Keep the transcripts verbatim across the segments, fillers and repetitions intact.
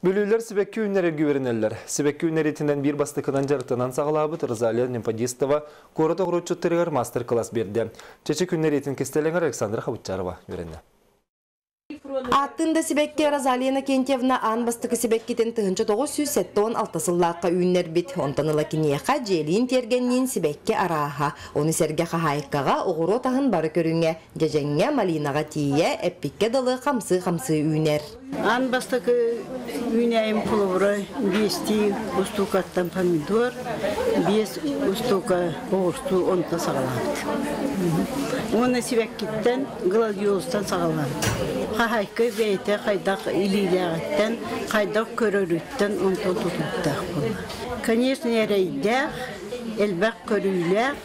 Бүлүүлэр сибэкки үүннэрэргэ үөрэнэллэр. Сибэкки үүннэриитинэн биир бастакынан дьарыктанан саҕалаабыт Розалия Немпадистова куорат оҕуруотчуттарыгар мастер-класс биэрдэ. Чэчик үүннэриитин кистэлэҥэр Александра Хабытчарова үөрэннэ. Ааттыын да сибэкки Розалия Иннокентьевна аан бастакы сибэккитин тыһыынча тоҕус сүүс сэттэ уон алта сыллаахха үүннэрбит. Онтон ыла киниэхэ дьиэлиин тиэргэнниин сибэкки арааһа. Ону сэргэ хаһаайкаҕа оҕуруот аһын бары көрүҥэ, дьэдьэҥҥэ, малинаҕа тиийэ, эппиккэ дылы хамсыы-хамсыы үүнэр. Аан бастакы үүнээйим холобура биэстии устуукаттан помидор, биэс устуука оҕурсуу онто саҕалаабыт. Уонна сибэккиттэн, гладиолустан саҕалаабыт. Хаһаайка бэйэтэ хайдах илиилээҕиттэн, хайдах көрөрүттэн онтон тутулуктаах буолла. Конечно, эрэйдээх, элбэх көрүүлээх,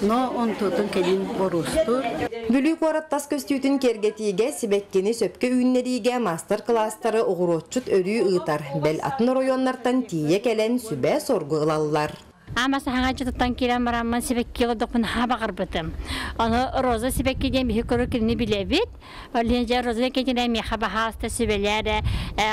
но онтутун кэлин боруостуур. Бүлүү куорат тас көстүүтүн киэргэтиигэ, сибэккини сөпкө үүннэриигэ мастер-класстары оҕуруотчут өрүү ыытар. Бэл атын оройуоннартан тиийэ кэлэн сүбэ соргу ылаллар. Ама саһаҥа дьытыттан киирэн бараммын сибэкки олордохпун хаба барбытым. Ону роза сибэкки диэн биһи көрөр кинини билэбит. Олен роза кетине меха баһааста сүбэлээре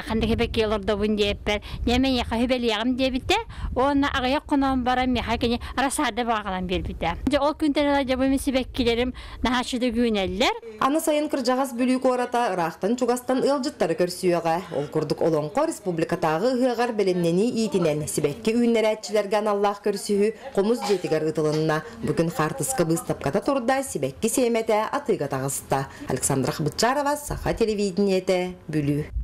ханнык сибэкки олордобун диэппэр. Неме яха хүбэлиэҕим диэбитэ. Онна аҕыйах хонон баран меха кини рассада бағалан бербите. Же ол күнтэн жабым сибэккилерим наһааччыды гүүнэллэр. Аны сайын кырдьаҕас Бүлүү куората ыраахтан чугастан ыалдьыттары көрсүөҕэ. Ол курдук Олоҥхо республикатааҕы ыһыаҕар бэлэмнэнии иитинэн сибэкки үүннэрээччилэргэ аналлаах көрсүһүү Хомус дьиэтигэр ыытылынна. Бүгүн хаартыска быыстапката турда, сибэкки сиэмэтэ атыыга таҕыста. Александра Хабытчарова, Саха телевидениетэ, Бүлүү.